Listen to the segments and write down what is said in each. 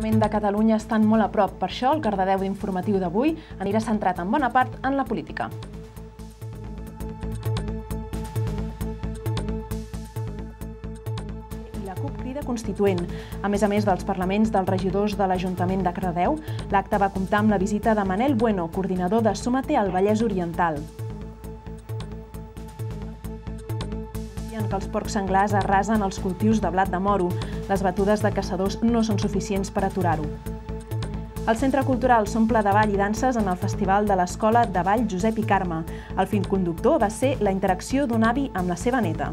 Parlament de Catalunya estan molt a prop. Per això, el Cardedeu informatiu d'avui anirà centrat en bona part en la política. La CUP Crida Constituent. A més dels parlaments dels regidors de l'Ajuntament de Cardedeu, l'acte va comptar amb la visita de Manel Bueno, coordinador de Súmate al Vallès Oriental. Que els porcs senglars arrasen els cultius de blat de moro. Les batudes de caçadors no són suficients per aturar-ho. El Centre Cultural s'omple de ball i danses en el Festival de l'Escola de Ball Josep i Carme. El fil conductor va ser la interacció d'un avi amb la seva neta.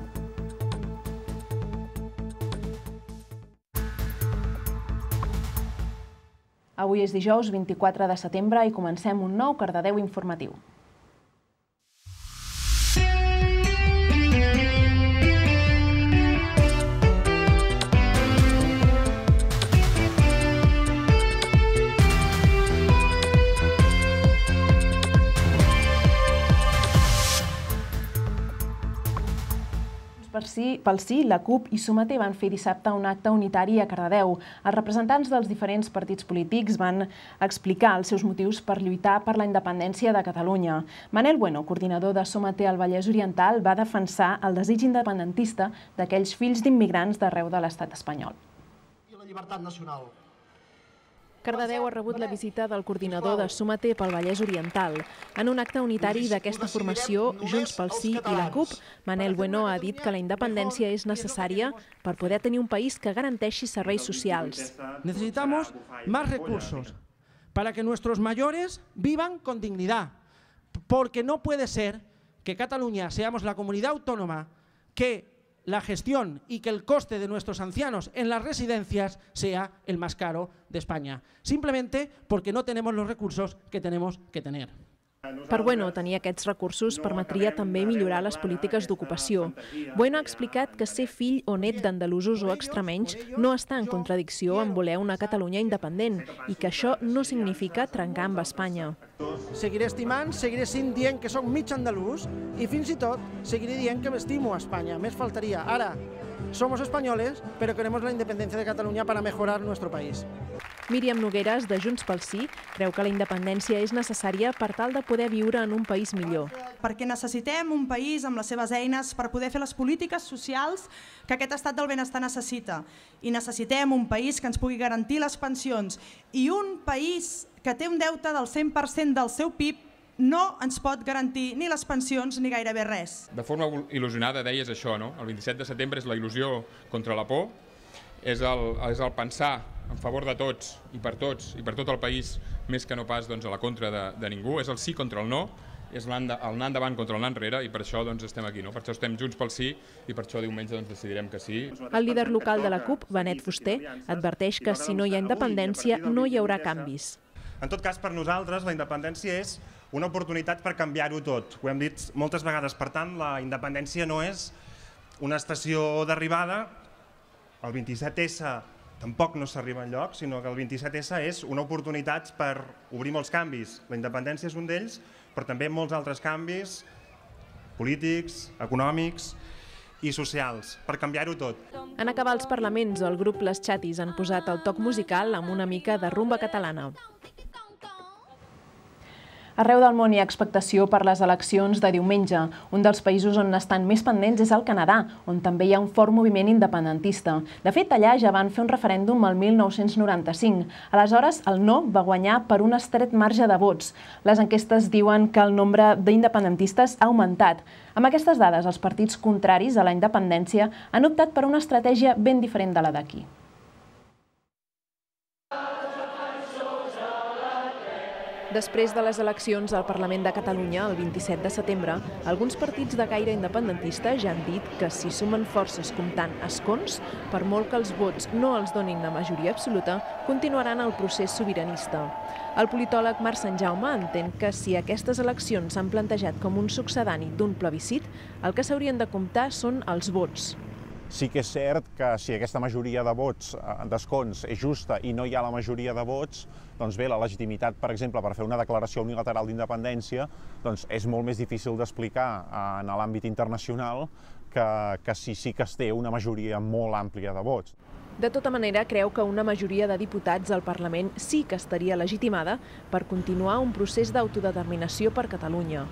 Avui és dijous 24 de setembre i comencem un nou Cardedeu informatiu. Pel Sí, la CUP i Súmate van fer dissabte un acte unitari a Cardedeu. Els representants dels diferents partits polítics van explicar els seus motius per lluitar per la independència de Catalunya. Manel Bueno, coordinador de Súmate al Vallès Oriental, va defensar el desig independentista d'aquells fills d'immigrants d'arreu de l'estat espanyol. I la llibertat nacional. Cardedeu ha rebut la visita del coordinador de Súmate pel Vallès Oriental. En un acte unitari d'aquesta formació, Junts pel Sí i la CUP, Manel Bueno ha dit que la independència és necessària per poder tenir un país que garanteixi serveis socials. Necesitamos más recursos para que nuestros mayores vivan con dignidad, porque no puede ser que Cataluña seamos la comunidad autónoma que la gestión y que el coste de nuestros ancianos en las residencias sea el más caro de España, simplemente porque no tenemos los recursos que tenemos que tener. Per Bueno, tenir aquests recursos permetria també millorar les polítiques d'ocupació. Bueno ha explicat que ser fill o net d'andalusos o extremenys no està en contradicció amb voler una Catalunya independent i que això no significa trencar amb Espanya. Seguiré estimant, seguiré dient que soc mig andalús i fins i tot seguiré dient que m'estimo a Espanya, més faltaria. Ara, somos españoles, pero queremos la independencia de Cataluña para mejorar nuestro país. Míriam Nogueras, de Junts pel Sí, creu que la independència és necessària per tal de poder viure en un país millor. Perquè necessitem un país amb les seves eines per poder fer les polítiques socials que aquest estat del benestar necessita. I necessitem un país que ens pugui garantir les pensions. I un país que té un deute del 100% del seu PIB no ens pot garantir ni les pensions ni gairebé res. De forma il·lusionada deies això, no? El 27 de setembre és la il·lusió contra la por, és el pensar en favor de tots i per tot el país, més que no pas a la contra de ningú, és el sí contra el no, és l'anar endavant contra l'anar enrere i per això estem aquí, per això estem Junts pel Sí i per això diumenge decidirem que sí. El líder local de la CUP, Benet Fuster, adverteix que si no hi ha independència no hi haurà canvis. En tot cas, per nosaltres la independència és una oportunitat per canviar-ho tot. Ho hem dit moltes vegades, per tant, la independència no és una estació d'arribada, el 27S tampoc no s'arriba enlloc, sinó que el 27S és una oportunitat per obrir molts canvis. La independència és un d'ells, però també molts altres canvis polítics, econòmics i socials, per canviar-ho tot. En acabar els parlaments, el grup Les Chatis han posat el toc musical amb una mica de rumba catalana. Arreu del món hi ha expectació per les eleccions de diumenge. Un dels països on estan més pendents és el Canadà, on també hi ha un fort moviment independentista. De fet, allà ja van fer un referèndum el 1995. Aleshores, el no va guanyar per un estret marge de vots. Les enquestes diuen que el nombre d'independentistes ha augmentat. Amb aquestes dades, els partits contraris a la independència han optat per una estratègia ben diferent de la d'aquí. Després de les eleccions al Parlament de Catalunya, el 27 de setembre, alguns partits de caire independentista ja han dit que si sumen forces comptant escons, per molt que els vots no els donin la majoria absoluta, continuaran el procés sobiranista. El politòleg Marc Santjaume entén que si aquestes eleccions s'han plantejat com un succedani d'un plebiscit, el que s'haurien de comptar són els vots. Sí que és cert que si aquesta majoria de vots d'escons és justa i no hi ha la majoria de vots, doncs bé, la legitimitat, per exemple, per fer una declaració unilateral d'independència és molt més difícil d'explicar en l'àmbit internacional que si sí que es té una majoria molt àmplia de vots. De tota manera, creu que una majoria de diputats al Parlament sí que estaria legitimada per continuar un procés d'autodeterminació per Catalunya.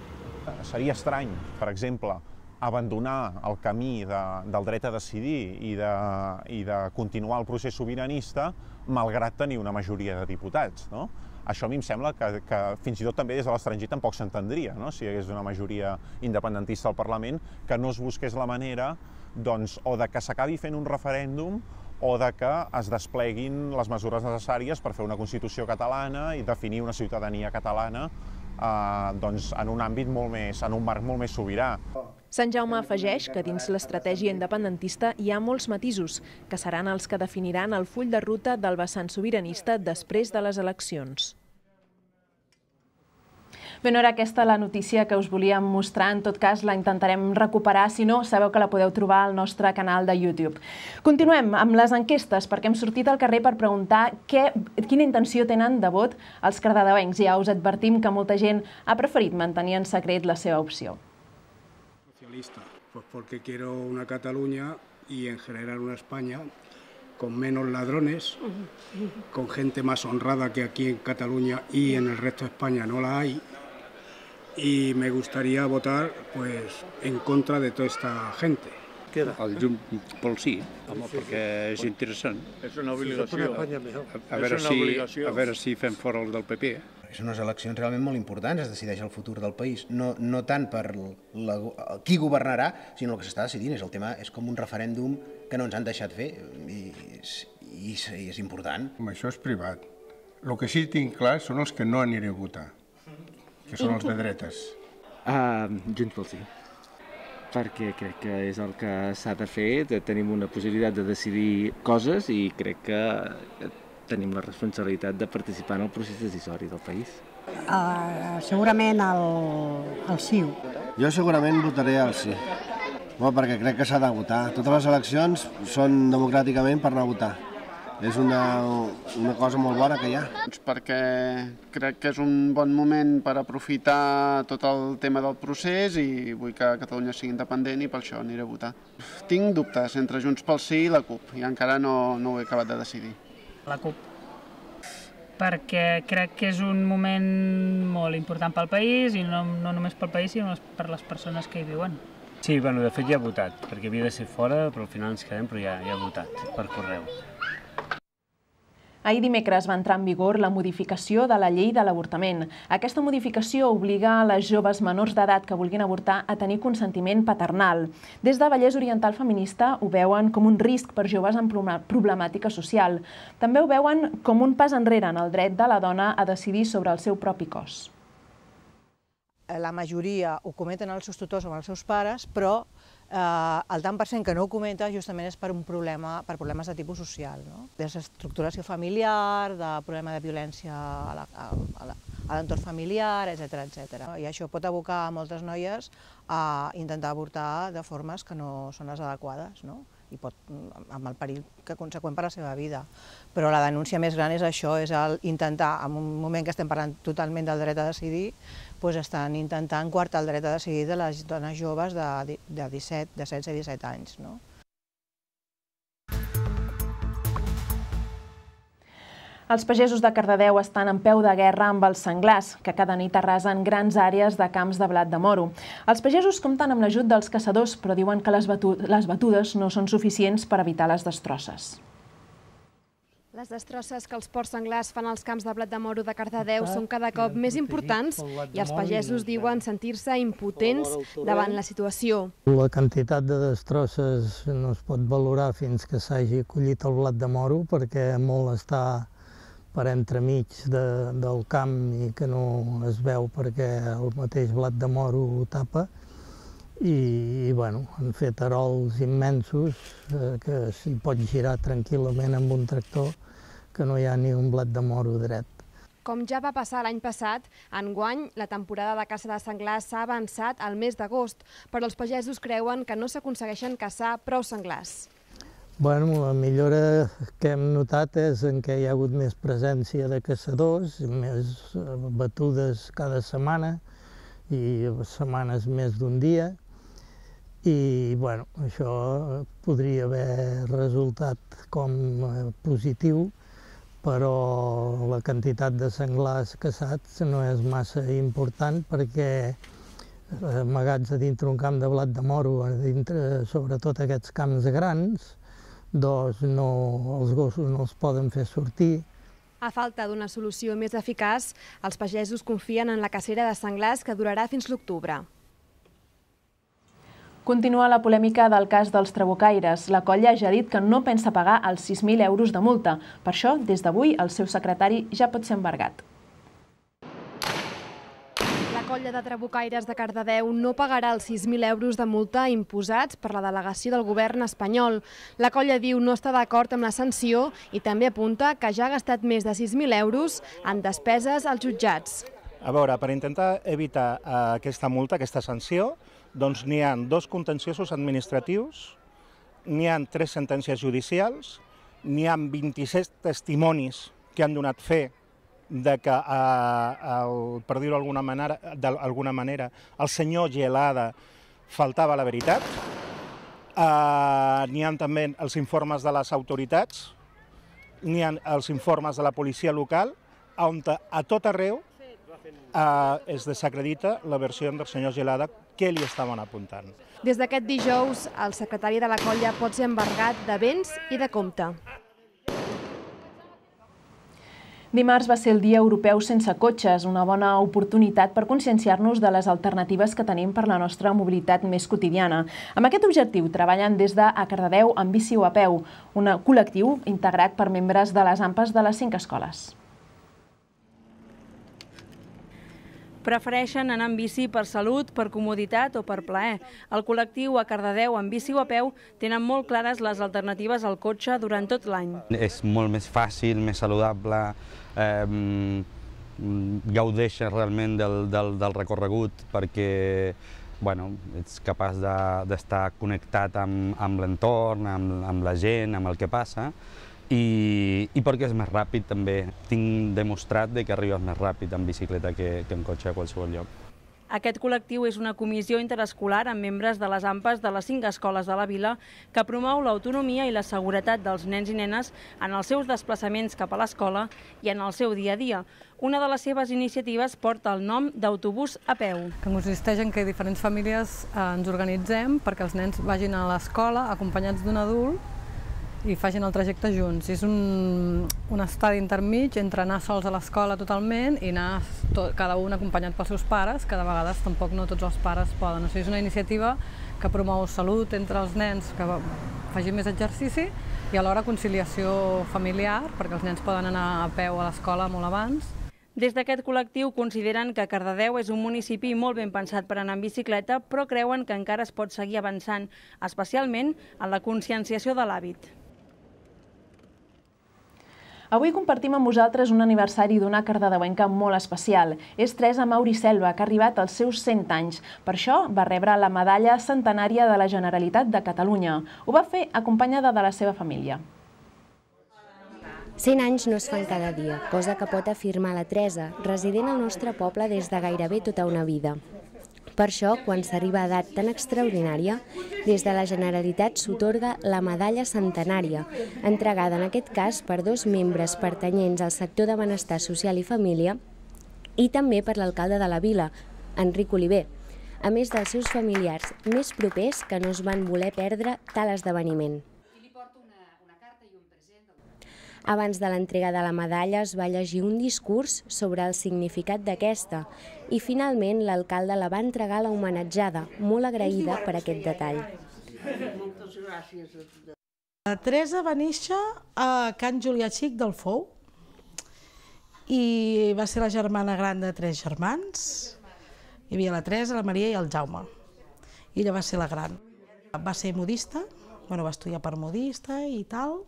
Seria estrany, per exemple, abandonar el camí del dret a decidir i de continuar el procés sobiranista malgrat tenir una majoria de diputats, no? Això a mi em sembla que fins i tot també des de l'estranger tampoc s'entendria, no? Si hi hagués una majoria independentista al Parlament, que no es busqués la manera o de que s'acabi fent un referèndum o de que es despleguin les mesures necessàries per fer una Constitució catalana i definir una ciutadania catalana en un àmbit en un marc molt més sobirà. Sant Jaume afegeix que dins l'estratègia independentista hi ha molts matisos, que seran els que definiran el full de ruta del vessant sobiranista després de les eleccions. Bé, no era aquesta la notícia que us volíem mostrar, en tot cas la intentarem recuperar, si no, sabeu que la podeu trobar al nostre canal de YouTube. Continuem amb les enquestes, perquè hem sortit al carrer per preguntar quina intenció tenen de vot els cardedeuencs. Ja us advertim que molta gent ha preferit mantenir en secret la seva opció. Socialista, pues porque quiero una Cataluña y en general una España con menos ladrones, con gente más honrada que aquí en Cataluña y en el resto de España no la hay. Y me gustaría votar pues en contra de toda esta gente. El Junts pel sí, home, perquè és interessant. És una obligació. A veure si fem fora el del PP. Són unes eleccions realment molt importants, es decideix el futur del país. No tant per qui governarà, sinó el que s'està decidint. El tema és com un referèndum que no ens han deixat fer i és important. Això és privat. El que sí tinc clar són els que no aniré a votar, que són els de dretes. Junts pel sí, perquè crec que és el que s'ha de fer, tenim una possibilitat de decidir coses i crec que tenim la responsabilitat de participar en el procés decisori del país. Segurament el sí. Jo segurament votaré el sí, perquè crec que s'ha de votar. Totes les eleccions són democràticament per anar a votar. És una cosa molt bona que hi ha. Perquè crec que és un bon moment per aprofitar tot el tema del procés i vull que Catalunya sigui independent i per això aniré a votar. Tinc dubtes entre Junts pel Sí i la CUP i encara no ho he acabat de decidir. La CUP, perquè crec que és un moment molt important pel país i no només pel país sinó per les persones que hi viuen. Sí, de fet ja he votat, perquè havia de ser fora, però al final ens quedem, però ja he votat per correu. Ahir dimecres va entrar en vigor la modificació de la llei de l'avortament. Aquesta modificació obliga a les joves menors d'edat que vulguin avortar a tenir consentiment paternal. Des de Vallès Oriental Feminista ho veuen com un risc per joves amb problemàtica social. També ho veuen com un pas enrere en el dret de la dona a decidir sobre el seu propi cos. La majoria ho comenten els seus tutors o els seus pares, però el tant per cent que no ho comenta justament és per problemes de tipus social, desestructuració familiar, de problema de violència a l'entorn familiar, etc. I això pot abocar a moltes noies a intentar avortar de formes que no són les adequades, i amb el perill conseqüent per a la seva vida. Però la denúncia més gran és això, és intentar, en un moment que estem parlant totalment del dret a decidir, estan intentant coartar el dret a decidir de les dones joves de 16 i 17 anys. Els pagesos de Cardedeu estan en peu de guerra amb els senglars, que cada nit arrasen grans àrees de camps de blat de moro. Els pagesos compten amb l'ajut dels caçadors, però diuen que les batudes no són suficients per evitar les destrosses. Les destrosses que els porcs senglars fan als camps de blat de moro de Cardedeu són cada cop més importants i els pagesos diuen sentir-se impotents davant la situació. La quantitat de destrosses no es pot valorar fins que s'hagi collit el blat de moro, perquè molt està per entremig del camp i que no es veu perquè el mateix blat de moro ho tapa. I han fet arols immensos que s'hi pot girar tranquil·lament amb un tractor, que no hi ha ni un blat de moro dret. Com ja va passar l'any passat, enguany la temporada de caça de senglars s'ha avançat al mes d'agost, però els pagesos creuen que no s'aconsegueixen caçar prou senglars. La millora que hem notat és que hi ha hagut més presència de caçadors, més batudes cada setmana i setmanes més d'un dia, i bueno, això podria haver resultat com positiu, però la quantitat de senglars caçats no és massa important perquè amagats a dintre un camp de blat de moro, sobretot aquests camps grans, doncs els gossos no els poden fer sortir. A falta d'una solució més eficaç, els pagesos confien en la cacera de senglars que durarà fins l'octubre. Continua la polèmica del cas dels trabucaires. La colla ja ha dit que no pensa pagar els 6.000 euros de multa. Per això, des d'avui, el seu secretari ja pot ser embargat. La colla de trabucaires de Cardedeu no pagarà els 6.000 euros de multa imposats per la delegació del govern espanyol. La colla diu no està d'acord amb la sanció i també apunta que ja ha gastat més de 6.000 euros en despeses als jutjats. A veure, per intentar evitar aquesta multa, aquesta sanció, doncs n'hi ha 2 contenciosos administratius, n'hi ha 3 sentències judicials, n'hi ha 26 testimonis que han donat fe de que, per dir-ho d'alguna manera, el senyor Gelada faltava la veritat. N'hi ha també els informes de les autoritats, n'hi ha els informes de la policia local, on a tot arreu es desacredita la versió del senyor Gelada que li estaven apuntant. Des d'aquest dijous, el secretari de la colla pot ser embargat de béns i de compte. Dimarts va ser el Dia Europeu sense cotxes, una bona oportunitat per conscienciar-nos de les alternatives que tenim per la nostra mobilitat més quotidiana. Amb aquest objectiu treballen des de A Cardedeu amb bici o a peu, un col·lectiu integrat per membres de les AMPAs de les 5 escoles. Prefereixen anar amb bici per salut, per comoditat o per plaer. El col·lectiu A Cardedeu amb bici o a peu tenen molt clares les alternatives al cotxe durant tot l'any. És molt més fàcil, més saludable, gaudeixes realment del recorregut perquè ets capaç d'estar connectat amb l'entorn, amb la gent, amb el que passa, i perquè és més ràpid també. Tinc demostrat que arribes més ràpid en bicicleta que en cotxe a qualsevol lloc. Aquest col·lectiu és una comissió interescolar amb membres de les AMPAs de les 5 escoles de la vila que promou l'autonomia i la seguretat dels nens i nenes en els seus desplaçaments cap a l'escola i en el seu dia a dia. Una de les seves iniciatives porta el nom d'autobús a peu. Que consisteix en que diferents famílies ens organitzem perquè els nens vagin a l'escola acompanyats d'un adult i facin el trajecte junts. És un estadi intermig entre anar sols a l'escola totalment i anar cada un acompanyat pels seus pares, que de vegades tampoc no tots els pares poden. És una iniciativa que promou salut entre els nens, que facin més exercici, i alhora conciliació familiar, perquè els nens poden anar a peu a l'escola molt abans. Des d'aquest col·lectiu consideren que Cardedeu és un municipi molt ben pensat per anar en bicicleta, però creuen que encara es pot seguir avançant, especialment en la conscienciació de l'hàbit. Avui compartim amb vosaltres un aniversari d'una cardedeuenca molt especial. És Teresa Mauri Selva, que ha arribat als seus 100 anys. Per això va rebre la medalla centenària de la Generalitat de Catalunya. Ho va fer acompanyada de la seva família. 100 anys no es fan cada dia, cosa que pot afirmar la Teresa, resident al nostre poble des de gairebé tota una vida. Per això, quan s'arriba a edat tan extraordinària, des de la Generalitat s'atorga la medalla centenària, entregada en aquest cas per 2 membres pertanyents al sector de benestar social i família i també per l'alcalde de la vila, Enric Oliver, a més dels seus familiars més propers que no es van voler perdre tal esdeveniment. Abans de l'entrega de la medalla es va llegir un discurs sobre el significat d'aquesta i finalment l'alcalde la va entregar a la homenatjada, molt agraïda per aquest detall. La Teresa va néixer a Can Julià Xic del Fou i va ser la germana gran de 3 germans. Hi havia la Teresa, la Maria i el Jaume. I ella va ser la gran. Va ser modista, va estudiar per modista i tal.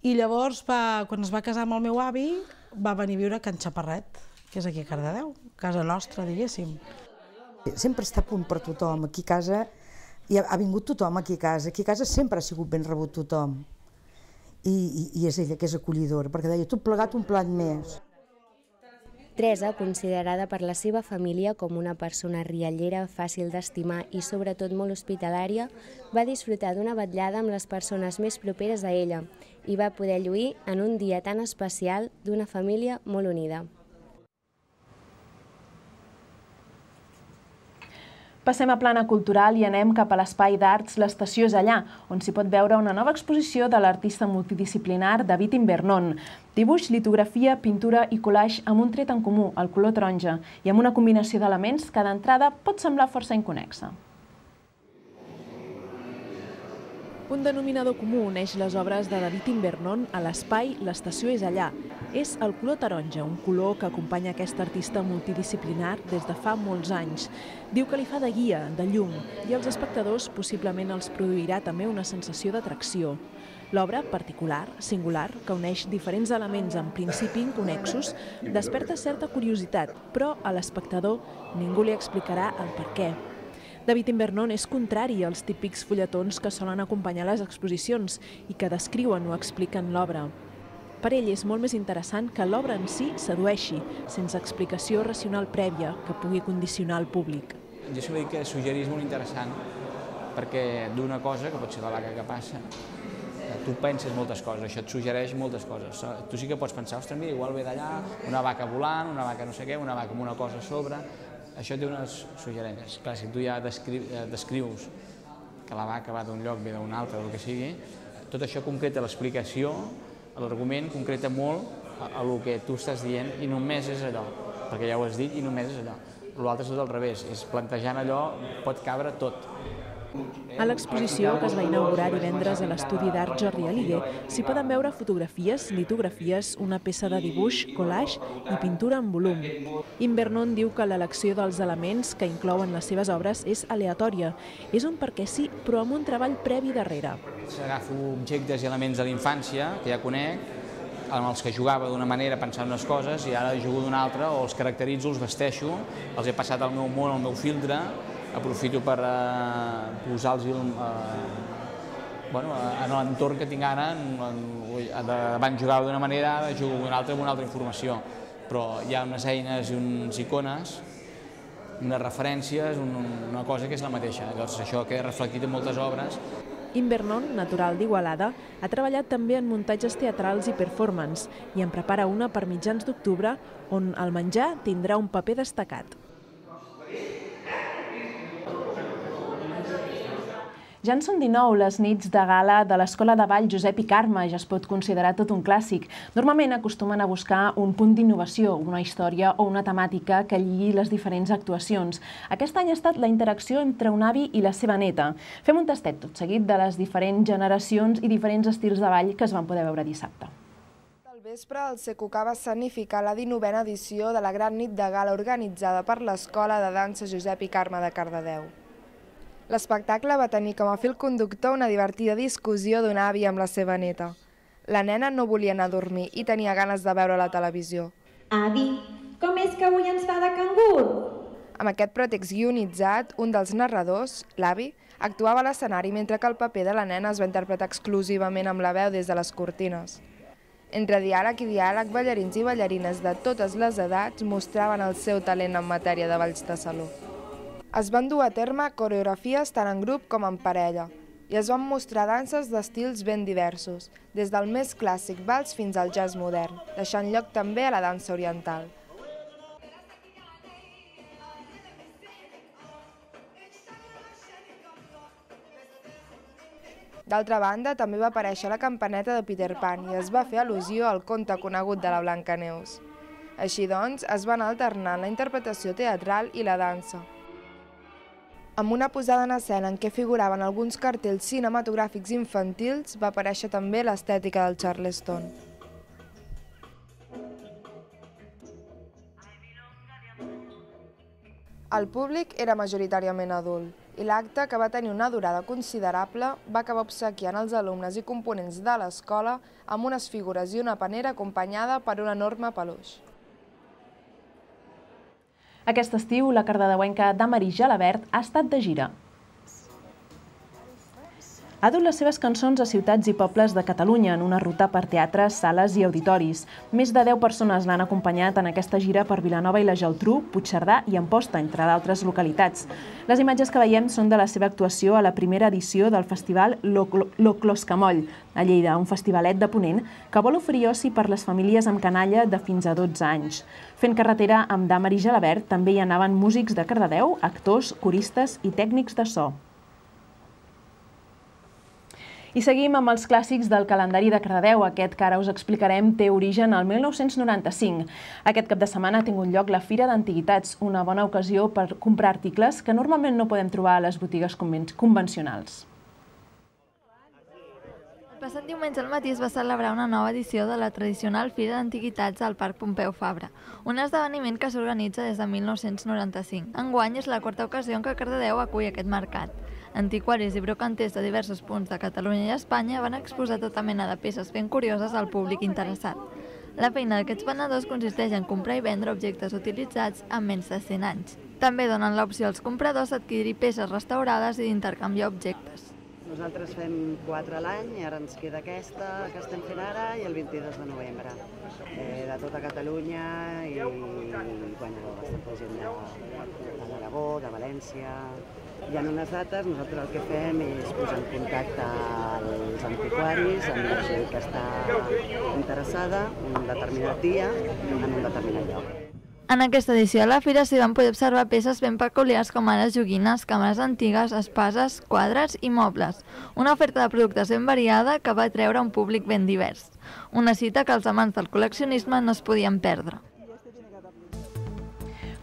I llavors, quan es va casar amb el meu avi, va venir a viure a Can Xaparret, que és aquí a Cardedeu, casa nostra, diguéssim. Sempre està a punt per tothom. Aquí a casa ha vingut tothom aquí a casa. Aquí a casa sempre ha sigut ben rebut tothom. I és ella que és acollidora, perquè deia, tot plegat un plat més. Teresa, considerada per la seva família com una persona riallera, fàcil d'estimar i sobretot molt hospitalària, va disfrutar d'una vetllada amb les persones més properes a ella i va poder lluir en un dia tan especial d'una família molt unida. Passem a plana cultural i anem cap a l'espai d'arts L'Estació és allà, on s'hi pot veure una nova exposició de l'artista multidisciplinar David Invernon. Dibuix, litografia, pintura i collage amb un tret en comú, el color taronja, i amb una combinació d'elements que d'entrada pot semblar força inconnexa. Un denominador comú uneix les obres de David Invernon a l'espai L'Estació és allà. És el color taronja, un color que acompanya aquest artista multidisciplinar des de fa molts anys. Diu que li fa de guia, de llum, i als espectadors possiblement els produirà també una sensació d'atracció. L'obra, particular, singular, que uneix diferents elements en principi inconnexos, desperta certa curiositat, però a l'espectador ningú li explicarà el per què. David Invernon és contrari als típics fulletons que solen acompanyar les exposicions i que descriuen o expliquen l'obra. Per ell és molt més interessant que l'obra en si sedueixi, sense explicació racional prèvia que pugui condicionar el públic. Jo sempre dic que suggerir és molt interessant perquè d'una cosa, que pot ser la vaca que passa, tu penses moltes coses, això et suggereix moltes coses. Tu sí que pots pensar, ostres, mira, igual ve d'allà, una vaca volant, una vaca no sé què, una vaca amb una cosa a sobre. Això té unes suggerències. Clar, si tu ja descrius que la vaca va d'un lloc, ve d'un altre, del que sigui, tot això concreta l'explicació, l'argument concreta molt a el que tu estàs dient i només és allò, perquè ja ho has dit i només és allò. L'altre és tot al revés, és plantejant allò, pot cabre tot. A l'exposició, que es va inaugurar divendres a l'estudi d'art Jordi Aliguer, s'hi poden veure fotografies, litografies, una peça de dibuix, collage i pintura en volum. Invernon diu que l'elecció dels elements que inclouen les seves obres és aleatòria. És un perquè sí, però amb un treball previ darrere. Agafo objectes i elements de l'infància, que ja conec, amb els que jugava d'una manera pensant unes coses i ara jugo d'una altra, o els caracteritzo, els vesteixo, els he passat al meu món, al meu filtre, aprofito per posar-los en l'entorn que tinc ara. Abans jugava d'una manera, ara jugo d'una altra amb una altra informació. Però hi ha unes eines i unes icones, unes referències, una cosa que és la mateixa. Llavors això queda reflectit en moltes obres. Invernon, natural d'Igualada, ha treballat també en muntatges teatrals i performance i en prepara una per mitjans d'octubre on el menjar tindrà un paper destacat. Ja en són 19 les nits de gala de l'Escola de Ball Josep i Carme, ja es pot considerar tot un clàssic. Normalment acostumen a buscar un punt d'innovació, una història o una temàtica que lligui les diferents actuacions. Aquest any ha estat la interacció entre un avi i la seva neta. Fem un tastet tot seguit de les diferents generacions i diferents estils de ball que es van poder veure dissabte. Al vespre, el CQK va escenificar la 19a edició de la gran nit de gala organitzada per l'Escola de Dansa Josep i Carme de Cardedeu. L'espectacle va tenir com a fil conductor una divertida discussió d'un avi amb la seva neta. La nena no volia anar a dormir i tenia ganes de veure la televisió. Avi, com és que avui ens fa de cangur? Amb aquest pretext guionitzat, un dels narradors, l'avi, actuava a l'escenari mentre que el paper de la nena es va interpretar exclusivament amb la veu des de les cortines. Entre diàleg i diàleg, ballarins i ballarines de totes les edats mostraven el seu talent en matèria de balls de saló. Es van dur a terme coreografies tant en grup com en parella i es van mostrar danses d'estils ben diversos, des del més clàssic vals fins al jazz modern, deixant lloc també a la dansa oriental. D'altra banda, també va aparèixer la campaneta de Peter Pan i es va fer al·lusió al conte conegut de la Blancaneus. Així doncs, es van alternar la interpretació teatral i la dansa. Amb una posada en escena en què figuraven alguns cartells cinematogràfics infantils, va aparèixer també l'estètica del Charleston. El públic era majoritàriament adult i l'acte, que va tenir una durada considerable, va acabar obsequiant els alumnes i components de l'escola amb unes figures i una panera acompanyada per un enorme peluix. Aquest estiu, la cardedeuenca Damaris Gelabert ha estat de gira. ha dut les seves cançons a ciutats i pobles de Catalunya en una ruta per teatres, sales i auditoris. Més de 10 persones l'han acompanyat en aquesta gira per Vilanova i la Geltrú, Puigcerdà i Amposta, entre d'altres localitats. Les imatges que veiem són de la seva actuació a la primera edició del festival Lo Closcamoll, a Lleida, un festivalet de Ponent que vol oferir oci per les famílies amb canalla de fins a 12 anys. Fent carretera amb Dàmar i Gelabert també hi anaven músics de Cardedeu, actors, coristes i tècnics de so. I seguim amb els clàssics del calendari de Cardedeu. Aquest que ara us explicarem té origen al 1995. Aquest cap de setmana ha tingut lloc la Fira d'Antiguitats, una bona ocasió per comprar articles que normalment no podem trobar a les botigues convencionals. El passat diumenge al matí es va celebrar una nova edició de la tradicional Fira d'Antiguitats al Parc Pompeu Fabra, un esdeveniment que s'organitza des de 1995. Enguany és la quarta ocasió en què Cardedeu acull aquest mercat. Antiquaris i brocanters de diversos punts de Catalunya i Espanya van exposar tota mena de peces ben curioses al públic interessat. La feina d'aquests venedors consisteix en comprar i vendre objectes utilitzats amb menys de 100 anys. També donen l'opció als compradors d'adquirir peces restaurades i d'intercanviar objectes. Nosaltres fem 4 a l'any i ara ens queda aquesta que estem fent ara i el 22 de novembre. De tota Catalunya i bastanta gent de l'Aragó, de València. Hi ha unes dates, nosaltres el que fem és posar en contacte als antiquaris amb la gent que està interessada un determinat dia en un determinat lloc. En aquesta edició de la fira s'hi van poder observar peces ben peculiars com ara joguines, càmeres antigues, espases, quadres i mobles. Una oferta de productes ben variada que va atreure un públic ben divers. Una cita que els amants del col·leccionisme no es podien perdre.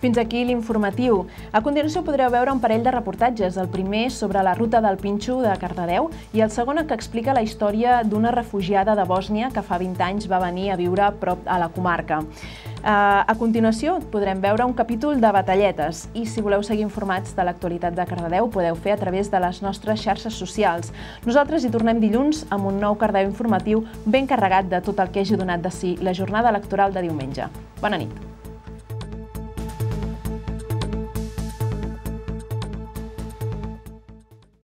Fins aquí l'informatiu. A continuació podreu veure un parell de reportatges, el primer sobre la ruta del Pinxo de Cardedeu i el segon que explica la història d'una refugiada de Bòsnia que fa 20 anys va venir a viure a prop a la comarca. A continuació podrem veure un capítol de Batalletes i si voleu seguir informats de l'actualitat de Cardedeu podeu fer a través de les nostres xarxes socials. Nosaltres hi tornem dilluns amb un nou Cardedeu informatiu ben carregat de tot el que hagi donat de si la jornada electoral de diumenge. Bona nit.